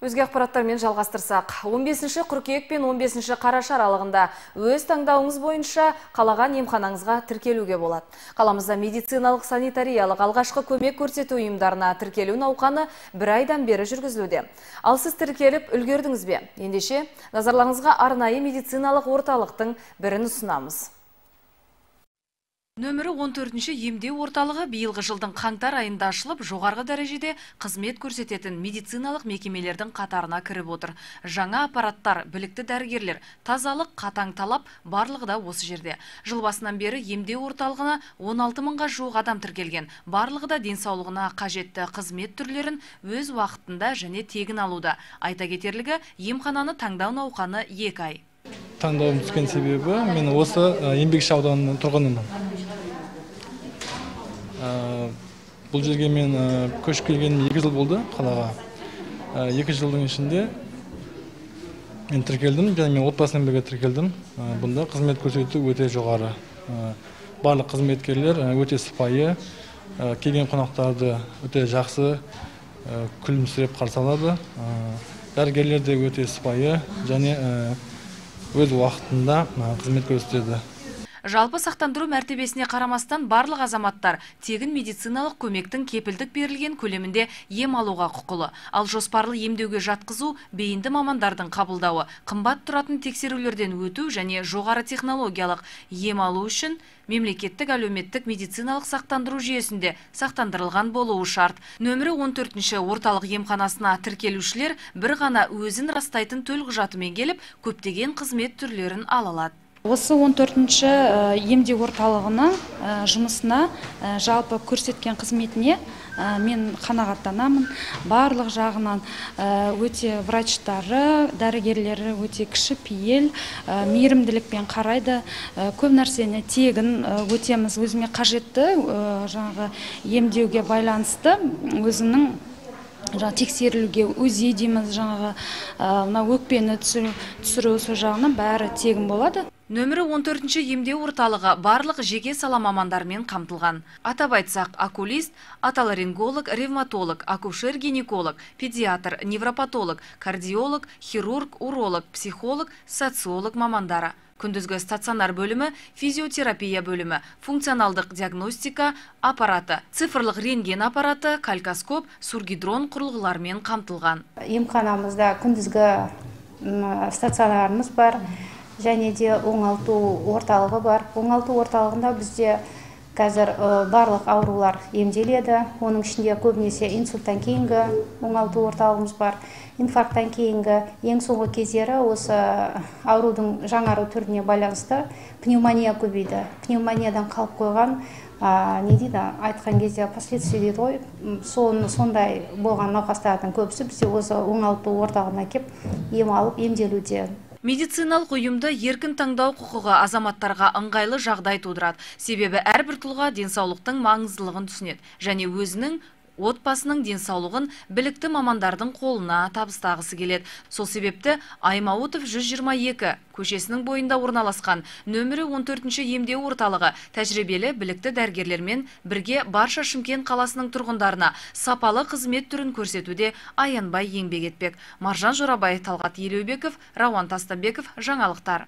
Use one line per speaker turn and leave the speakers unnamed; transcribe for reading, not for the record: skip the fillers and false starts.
Өзге ақпараттармен жалғастырсақ, 15 қыркүйек пен 15 қараша аралығында өз таңдауыңыз бойынша қалаған емханаңызға тіркелуге болады. Қаламызда медициналық санитариялық алғашқы көмек көрсету ұйымдарына тіркелу науқаны 1 айдан бері жүргізілуде. Ал сіз тіркеліп үлгердіңіз бе? Ендеше назарларыңызға арнайы медициналық орталықтың бірін ұсынамыз. Нөмірі 14-ші емдеу орталығы биылғы жылдың қаңтар айында ашылып, жоғарғы дәрежеде қызмет көрсететін медициналық мекемелердің қатарына кіріп отыр. Жаңа аппараттар, білікті дәрігерлер, тазалық, қатаң талап барлығы да осы жерде. Жыл басынан бері емдеу орталығына 16 мыңға жуық адам тіркелген. Барлығы да денсаулығына қажетті қызмет түрлерін өз уақытында және тегін алуда. Айта кетерлігі, емхананы таңдау науқаны 2 ай.
Таңдауым түскен себебі, мен осы Еңбекші ауданының тұрғынымын. Бұл жерге мен көшіп келгенім 2 жыл болды қалаға. 2 жылдың ішінде мен тіркелдім, және мен отбасымен бірге тіркелдім. Бұнда қызмет көрсету өте жоғары. Барлық қызметкерлер өте сыпайы, келген қонақтарды өте жақсы күлімсіреп қарсы алады. Дәрігерлер де өте сыпайы және өз уақытында қызмет көрсетеді.
Жалпы сақтандыру мәртебесіне қарамастан барлық азаматтар тегін медициналық көмектің кепілдік берілген көлемінде ем алуға құқылы. Ал жоспарлы емдеуге жатқызу, бейінді мамандардың қабылдауы, қымбат тұратын тексерулерден өту және жоғары технологиялық ем алу үшін мемлекеттік әлеуметтік медициналық сақтандыру жүйесінде сақтандырылған болуы шарт. Нөмірі 14-ші орталық емханасына тіркелушілер бір ғана өзін растайтын төлқұжатымен келіп, көптеген қызмет түрлерін ала алады.
Осы 14-ші емдеу орталығына жұмысына, жалпы көрсеткен қызметіне мен қанағаттанамын. Барлық жағынан өте врачтары, дәрігерлері өте кішіпейіл, мейірімділікпен қарайды. Көп нәрсені тегін өтеміз, өзіме қажетті жаңағы емдеуге байланысты өзінің тексерілуге УЗИ дейміз, жаңағы өкпені түсіру сол жағынан бәрі тегін болады.
Нөмірі 14-ші емдеу орталығы барлық жеке сала мамандармен қамтылған. Атап айтсақ, окулист, отоларинголог, ревматолог, акушер-гинеколог, педиатр, невропатолог, кардиолог, хирург, уролог, психолог, социолог мамандары. Күндізгі стационар бөлімі, физиотерапия бөлімі, функционалдық диагностика аппараты, цифрлық рентген аппараты, калькоскоп, сургидрон құрылғылармен қамтылған.
Емханамызда күндізгі стационарымыз бар, және де оңалту орталығы бар. Оңалту орталығында бізде қазір барлық аурулар емделеді. Оның ішінде көбінесе инсульттан кейінгі оңалту орталығымыз бар. Инфаркттан кейінгі ең соңғы кездері осы аурудың жаңару түріне байланысты пневмония көбейді. Пневмониядан қалып қойған, айтқан кезде последствия дейді ғой, сондай болған науқастардың көбісі бізде осы оңалту орталығына келіп ем алып емделуде.
Медициналық ұйымды еркін таңдау құқығы азаматтарға ыңғайлы жағдай тудырады. Себебі әрбір тұлға денсаулықтың маңыздылығын түсінеді және өзінің отбасының денсаулығын білікті мамандардың қолына табыстағысы келеді. Сол себепті Аймауытов 122 көшесінің бойында орналасқан нөмірі 14-ші емдеу орталығы тәжірибелі білікті дәрігерлермен бірге барша Шымкент қаласының тұрғындарына сапалы қызмет түрін көрсетуде аянбай еңбек етпек. Маржан Жорабай, Талғат Елеубеков, Рауан Тастанбеков, жаңалықтар.